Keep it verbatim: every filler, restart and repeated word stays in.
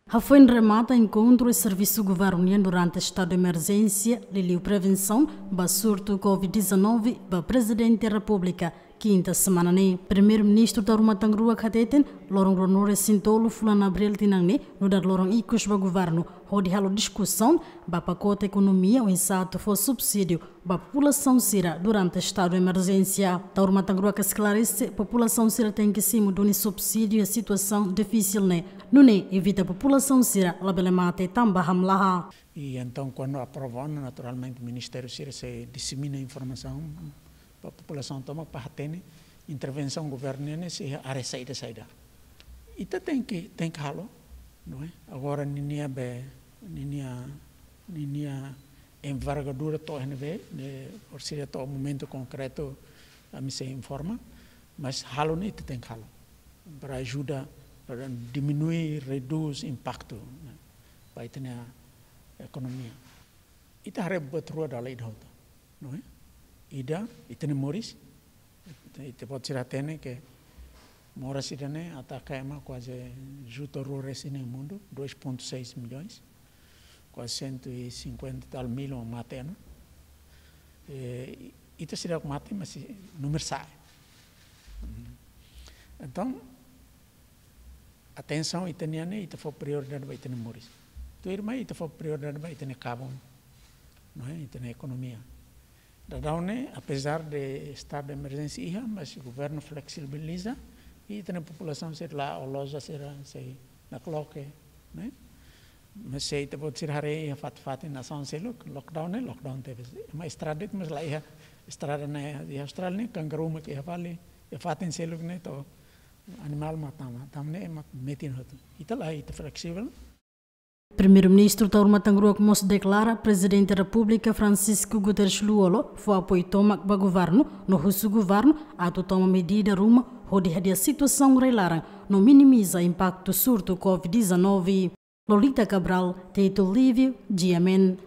Hafoin remata enkontru servisu governu nian durante estadu de emerjénsia, liuliu prevensaun ba surtu covid dezanove, ba Prezidente Repúblika, kinta semana ne'e. Primeiru-Ministru Taur Matan Ruak hateten, loron ruanulu-resin-tolu fulan Abríl tinan ne'e, nu'udar loron ikus ba governu, hodi halo diskusaun ba pakote ekonomia oinsá atu fó subsídiu ba populasaun sira durante estadu de emerjénsia. Taur Matan Ruak esklarese, populasaun sira tenke simu duni subsídiu iha situasaun difisil ne'e. Nune'e evita populasaun sira labele mate tanba hamlaha. E entaun, kuandu aprova ona, naturalmente, ministériu sira sei disemina informasaun ba populasaun tomak para hatene intervensaun governu nian ne'e sei iha área saida-saida. Ita tenke, tenke halo, não é? Agora, ninia be, ninia, ninia envergadura to'o iha ne'ebé, ne'e, orsida to'o momentu konkretu, ami sei informa, mas halo ne'e ita tenke halo. Para ajuda, para diminui, redús impaktu, ne'e, ba ita-nia ekonomia. Ita haree buat rua dala ida hotu, não é? Ida, ita-nia moris, ita, ita-boot sira hatene ke moras ida-ne'e ataka ema kuaze juta rua resin iha mundu, dois ponto seis milhões, kuaze cento e cinquenta e tal mil mak mate ona. E, ita seidauk mate, mas númeru sa'e. Entaun, atensaun ita-nian ne'e, ita fó prioridade ba ita-nia moris. Tuirmai ita fó prioridade ba ita-nia kabun, não é? Ita-nia ekonomia. Daudaun ne'e, apezar de estadu de emerjénsia iha, mas governu fleksibiliza, i ita-nia populasaun sira la'o loja sira sei nakloke, não é? Mas se ita-boot sira haree iha fatin-fatin nasaun seluk, lockdown ne'e, lockdown tebes. Ema estrada de'it, mas la iha estrada ne'e, iha Austrália ne'e, kangaruu mak iha fali, iha fatin seluk ne'e, to'o animál mak tama, tama ne'e ema metin hotu. Ita lae, ita fleksivel. Primeiru-Ministru Taur Matan Ruak mós deklara Prezidente Repúblika Francisco Guterres Lú-Olo fó apoiu tomak ba governu, no husu governu atu toma medida ruma hodi hadi'a situasaun rai-laran no minimiza impaktu surtu covid dezanove. Lolita Cabral, Tito Livio, G M N.